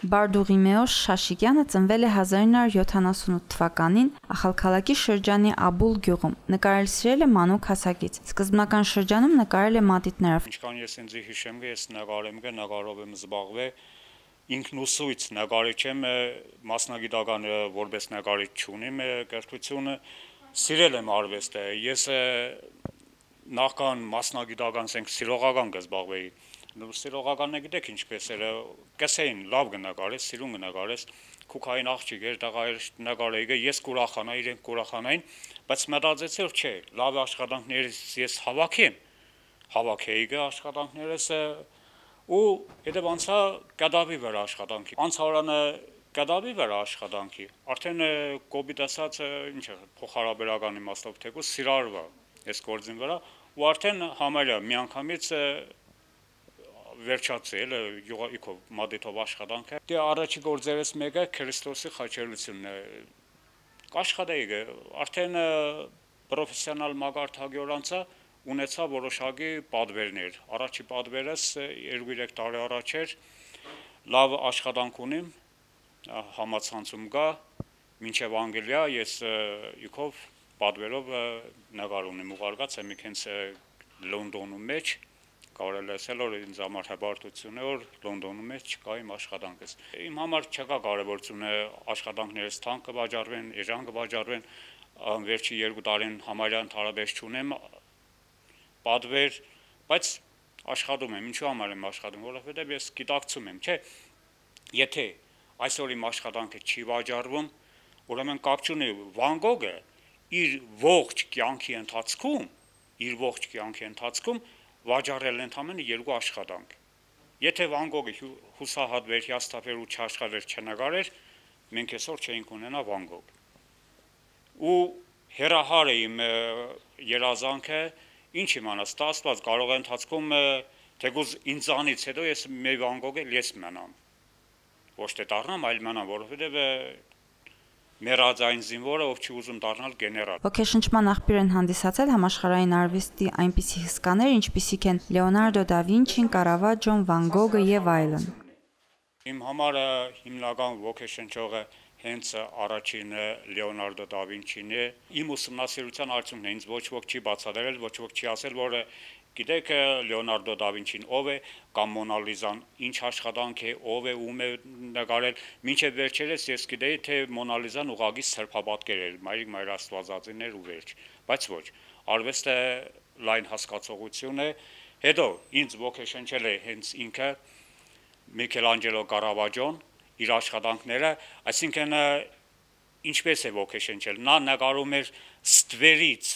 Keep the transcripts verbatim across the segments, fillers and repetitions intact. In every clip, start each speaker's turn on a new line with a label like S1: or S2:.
S1: Բարդուղիմեոս Շաշիկյանը ծնվել է հազար ինը հարյուր յոթանասունութ թվականին Ախալքալակի շրջանի Աբուլ գյուղում, նկարել սիրել է մանուկ հասակից, սկզբնական շրջանում նկարել է մատիտներով։
S2: Ինչքան ես ինձ հիշեմ, ես նկարեմ գը նկարով եմ զբաղվել, ինքնուսույց նկարիչ եմ, մասնագիտական որպես նկարիչ չունիմ կրթությունը, սիրել եմ արվեստը, ես նախքան մասնագիտական ասենք սիրողական կզբաղվեի, սիրողականն է գիտեք ինչպես էր, կսեին լավ կնկարես, սիրուն կնկարես, քուքային աղջիկ էր, տղա էր նկարեի, ես կուրախանայի, իրենք կուրախանային, բայց մտածեցի որ չէ, լավ աշխատանքներից ես հավաքեմ, հավաքեի աշխատանքներս ու հետևանցա կդավի վրա աշխատանքի, անցարանը կդավի վրա աշխատանքի, արդեն կոպիտ ասած ինչ է, փոխհարաբերական իմաստով թեկուզ սիրարվա ես գործին վրա ու արդեն համարյա միանգամից վերջացել յուղիկով մադիտով աշխատանքը, դե առաջի գործերս մեկը Քրիստոսի խաչելությունն է, կաշխատեի արդեն պրոֆեսիոնալ մագարտագյուր անցա ունեցա որոշակի պատվերներ, առաջի պատվերս երկու երեք տարի առաջ էր, լավ աշխատանք ունիմ, համացանցում գա, մինչև Անգլիա ես իքով պատվերով նկար ունիմ ուղարկած եմ իքենց Լոնդոնում մեջ, կարել ասել որ ինձ համար հպարտություն է որ Լոնդոնում մեջ չկա իմ աշխատանքս, իմ համար չկա կարևորությունը աշխատանքներս թանկ կվաճառվեն, էժան կվաճառվեն, վերջի երկու տարին համարյա ընդհանրապես չունեմ պատվեր, բայց աշխատում եմ, ինչու համար եմ աշխատում, որովհետև ես գիտակցում եմ, չէ, եթե այսօր իմ աշխատանքը չի վաճառվում, ուրեմն կապ չունի Վան Գոգը իր ողջ կյանքի ընթացքում, իր ողջ կյանքի ընթացքում վաճառել ընդամենը երկու աշխատանք, եթե Վան Գոգը հուսահատ վերհիասթափեր ու չաշխատեր չնկարեր, մենք այսօր չէինք ունենա Վան Գոգ, ու հեռահար է իմ երազանքը, ինչ իմանաս, ստացված կարող է ընթացքում թեկուզ ինձանից հետո ես մի Վան Գոգ էլ ես մնամ, ոչ թե դառնամ, այլ մնամ, որովհետև մեռածային զինվորը, ով չի ուզում դառնալ գեներալ։
S1: Ոգեշնչման աղբյուր են հանդիսացել համաշխարհային արվեստի այնպիսի հսկաներ, ինչպիսիք են Լեոնարդո դա Վինչին, Կարավաջոն, Վան Գոգը եւ այլն։
S2: Իմ համար հիմնական ոգեշնչողը հենց առաջին Լեոնարդո դա Վինչին է, իմ ուսումնասիրության արդյունքն է, ինձ ոչ ոք չի բացատրել, ոչ ոք չի ասել, որ գիտեք Լեոնարդո դա Վինչին ով է, կամ Մոնալիզան ինչ աշխատանք է, ով է, ում է նկարել, մինչև վերջերս ես գիտեի, թե Մոնալիզան ուղղակի սրբապատկեր էր, մայրիկ մայր աստվածածին էր ու վերջ, բայց ոչ, արվեստը լայն հասկացողություն է, հետո ինձ ոգեշնչել է հենց ինքը Միքելանջելո Կարավաջոն, իր աշխատանքները, այսինքն ինչպես է ոգեշնչել, նա նկարում էր ստվերից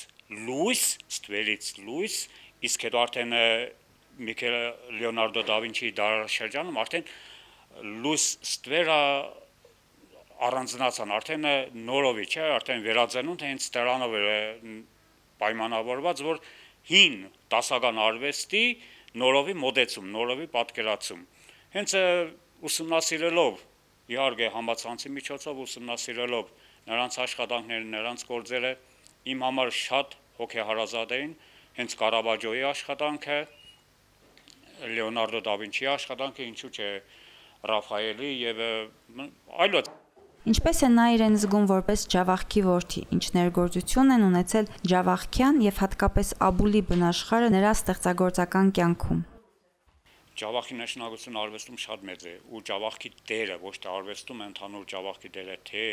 S2: լույս, ստվերից լույս, իսկ հետո արդեն Միքել Լեոնարդո դա Վինչիի դարաշրջանում արդեն լույս ստվերը առանձնացան, արդեն նորովի, չէ, արդեն վերածնունդ հենց դրանով էր պայմանավորված, որ հին դասական արվեստի նորովի մոդեցում, նորովի պատկերացում, հենց ուսումնասիրելով իհարկե համացանցի միջոցով ուսումնասիրելով նրանց աշխատանքները, նրանց գործերը իմ համար շատ հոգեհարազատ էին, հենց Կարավաջոյի աշխատանքը, Լեոնարդո դա Վինչիի աշխատանքը, ինչու՞ չէ Ռաֆայելի եւ այլոց։
S1: Ինչպես է նա իրեն զգում որպես Ջավախքի որդի, ինչ ներգործություն են ունեցել Ջավախքյան եւ հատկապես Աբուլի բնաշխարհը նրա ստեղծագործական կյանքում։
S2: Ջավախքի նշանակությունը արվեստում շատ մեծ է ու Ջավախքի դերը ոչ թե արվեստում ընդհանուր Ջավախքի դերը թե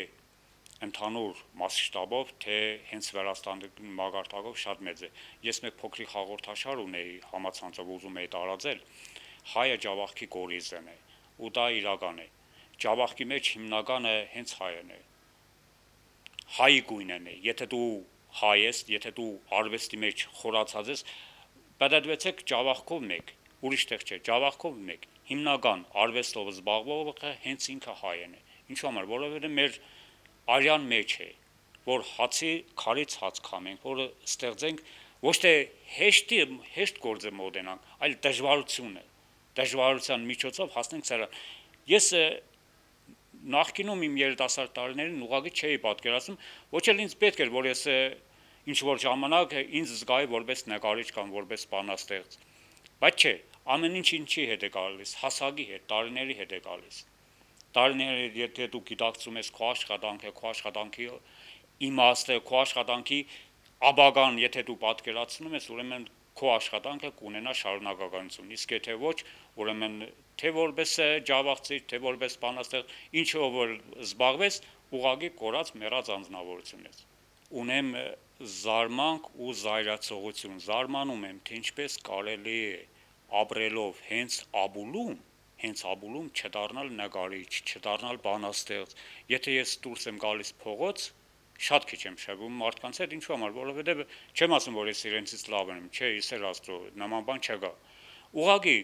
S2: ընդհանուր մասշտաբով թե հենց Վրաստանի մագարտակով շատ մեծ է։ Ես մեկ փոքրիկ հաղորդաշար ունեի համացանցով ուզում էի տարածել, հայը Ջավախքի կորիզն է ու դա իրական է։ Ջավախքի մեջ հիմնականը հենց հայն է։ Հայի գույնն է, եթե դու հայ ես, եթե դու արվեստի մեջ խորացած ես, պատդվեցեք Ջավախքով մեկ, ուրիշ տեղ չէ, Ջավախքով մեկ, հիմնական արվեստով զբաղվողը հենց ինքը հայն է։ Ինչու համար, որովհետև մեր արյան մեջ է, որ հացի քարից հաց քամենք, որ ստեղծենք ոչ թե հեշտի հեշտ գործը մոդենանք, այլ դժվարությունը, դժվարության միջոցով հասնենք սրանք։ Ես նախկինում իմ երիտասարդ տարիներին ուղղակի չէի պատկերացնում, ոչ էլ ինձ պետք էր, որ ես ինչ որ ժամանակ ինձ զգայի որպես նկարիչ կամ որպես բանաստեղծ։ Բայց չէ, ամեն ինչ ինչի հետ է գալիս, հասակի հետ, տարիների հետ է գալիս։ տարիներ եթե դու գիտակցում ես քո աշխատանքը, քո աշխատանքի իմաստը, քո աշխատանքի աբագան, եթե դու պատկերացնում ես, ուրեմն քո աշխատանքը կունենա շարունակականություն, իսկ եթե ոչ, ուրեմն թե որպես ջավախցիր, թե որպես բանաստեղծ, ինչով որ զբաղվես, ուղղակի կորած մեռած անձնավորություն ես։ Ունեմ զարմանք ու զայրացողություն, զարմանում եմ, թե ինչպես կարելի է ապրելով հենց Աբուլում, հենց Աբուլում չդառնալ նկարիչ, չդառնալ բանաստեղծ։ Եթե ես դուրս եմ գալիս փողոց, շատ քիչ եմ շփվում մարդկանց հետ, ինչու համար, որովհետև չեմ ասում, որ ես իրենցից լավն եմ, չէ, իսեր աստծո, նման բան չկա։ Ուղղակի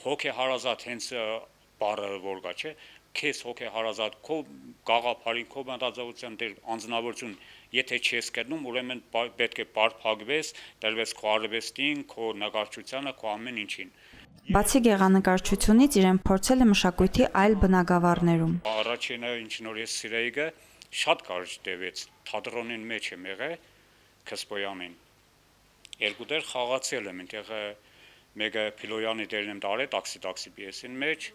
S2: հոգեհարազատ հենց բառը որ կա, չէ, քեզ հոգեհարազատ, քո գաղափարին, քո մտածողության դեր անձնավորություն, եթե չես գտնում, ուրեմն պետք է պարփակվես, տրվես քո արվեստին, քո նկարչությանը, քո ամեն ինչին։
S1: Բացի գեղանկարչությունից իրեն փորձել է մշակույթի այլ բնագավառներում։
S2: Առաջինը, ինչ նոր ես սիրեիգը, շատ կարճ տևեց, թատրոնին մեջ եմ եղել, Քսպոյանին։ Երկու դեր խաղացել եմ, այնտեղ մեկը Փիլոյանի դերն եմ տարել, տաքսի-տաքսի պիեսին մեջ,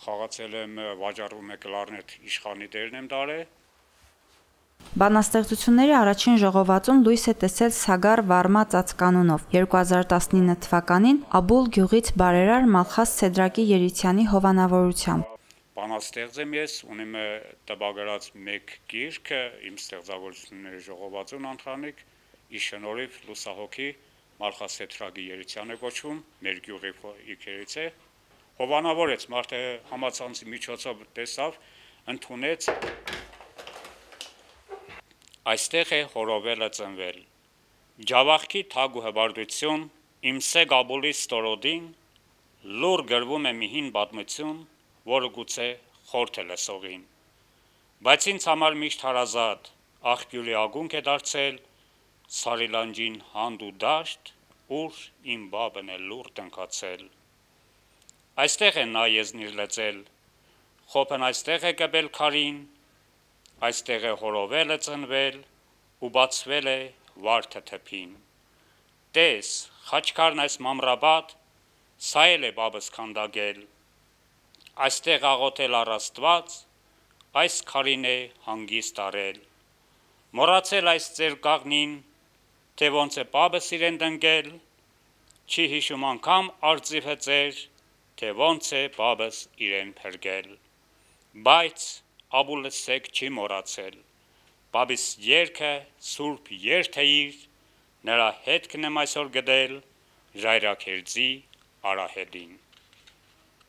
S2: խաղացել եմ վաճառվում է կլարնետ իշխանի դերն եմ տարել։
S1: Բանաստեղծությունների առաջին ժողովածուն լույս է տեսել Սագար Վարմա ծածկանունով երկու հազար տասնինը թվականին Աբուլ գյուղից բարերար Մալխաս Սեդրակի Երիցյանի հովանավորությամբ։
S2: Բանաստեղծ եմ ես, ունեմ տպագրած մեկ գիրք, իմ ստեղծագործությունների ժողովածուն ընթրանիկ, ի շնորհիվ լուսահոգի Մալխաս Սեդրակի Երիցյանը կոչվում, մեր գյուղի իքերից է։ Հովանավորեց, մարդը համացանցի միջոցով տեսավ, ընդունեց։ Այստեղ է հորովելը ծնվել, ջավախքի թագ ու հբարդություն, իմ սեգ Աբուլի ստորոդին, լուր գրվում է մի հին պատմություն, որը գուցե խորթ է լսողին, բայց ինձ համար միշտ հարազատ, աղբյուրի ագունք է դարձել, սարիլանջին հանդ ու դաշտ, ուր իմ բաբն է լուր տնկացել, այստեղ է նա եզնիր լծել, խոպն այստեղ է կպել քարին, այստեղ է հորովելը ծնվել ու բացվել է վարդը թփին, տես, խաչքարն այս մամրաբադ, սա էլ է բաբս քանդագել, այստեղ աղոթել առ Աստված, այս քարին է հանգիստ արել, մոռացել այս ձեր կաղնին, թե ոնց է բաբս իրեն տնկել, չի հիշում անգամ արծիվը ձեր, թե ոնց է բաբս իրեն փրկել, բայց Աբուլը սեկ չի մոռացել, բաբիս երգը սուրբ երթ է իր, նրա հետքն եմ այսօր գտել Ժայրաքերձի արահետին։